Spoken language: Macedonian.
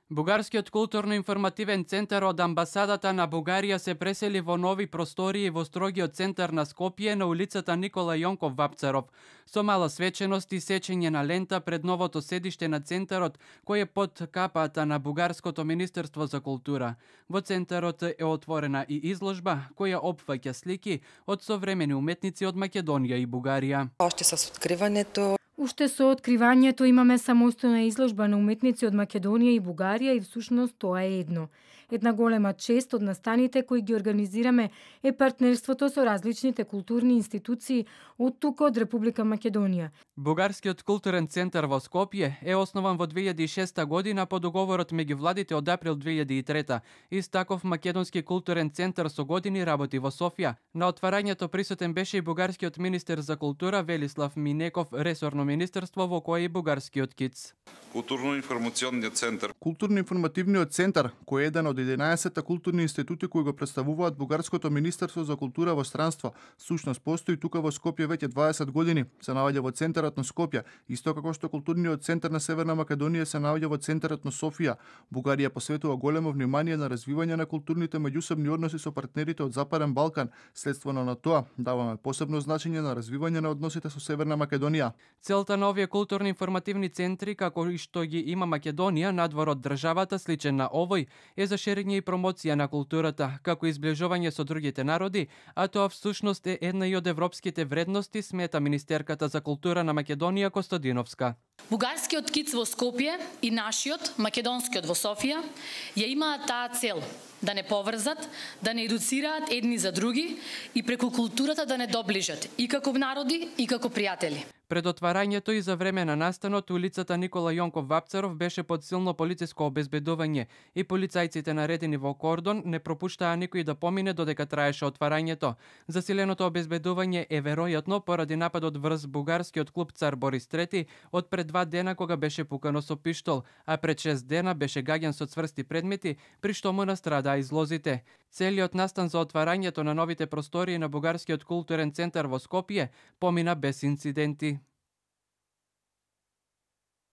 Бугарскиот културно-информативен центар од амбасадата на Бугарија се пресели во нови простории во строгиот центар на Скопје на улицата Никола Јонков Вапцаров, со мала свеченост и сечење на лента пред новото седиште на центарот, кој е под капата на Бугарското Министерство за култура. Во центарот е отворена и изложба која опфаќа слики од современи уметници од Македонија и Бугарија. Уште со откривањето имаме самостојна изложба на уметници од Македонија и Бугарија и всушност тоа е едно. Една голема чест од настаните кои ги организираме е партнерството со различните културни институции од тука од Република Македонија. Бугарскиот културен центар во Скопје е основан во 2006 година по договорот меѓу владите од април 2003. Истаков македонски културен центар со години работи во Софија. На отварањето присутен беше и бугарскиот министер за култура Велислав Минеков, ресорно министерство во кое и бугарскиот КИЦ. Културно-информационниот центар. Културно-информативниот центар, кој е еден од 11 културни институти кои го представуваат Бугарското Министерство за култура во странство, сушност постои тука во Скопје веќе 20 години. Се наоѓа во центарот на Скопје, исто како што културниот центар на Северна Македонија се наоѓа во центарот на Софија. Бугарија посветува големо внимание на развивање на културните меѓусобни односи со партнерите од Западен Балкан. Следствено на тоа, даваме посебно значење на развивање на односите со Северна Македонија. Целта на овие културно-информативни центри, како и што ги има Македонија надвор од државата, сличен на овој, е за шерење и промоција на културата, како и изближување со другите народи, а тоа всушност е една и од европските вредности, смета министерката за култура на Македонија Костадиновска. Бугарскиот КИЦ во Скопје и нашиот, македонскиот во Софија, ја имаат таа цел да не поврзат, да не едуцираат едни за други и преку културата да не доближат и како народи и како пријатели. Пред отварањето и за време на настанот, улицата Никола Јонков Вапцаров беше под силно полициско обезбедување и полицајците наредени во кордон не пропуштаа никој да помине додека траеше отварањето. Засиленото обезбедување е веројатно поради нападот врз бугарскиот клуб Цар Борис III од пред 2 дена кога беше пукано со пиштол, а пред 6 дена беше гаѓан со цврсти предмети, при што му настрадаа излозите. Целиот настан за отварањето на новите простории на Бугарскиот културен центар во Скопје помина без инциденти.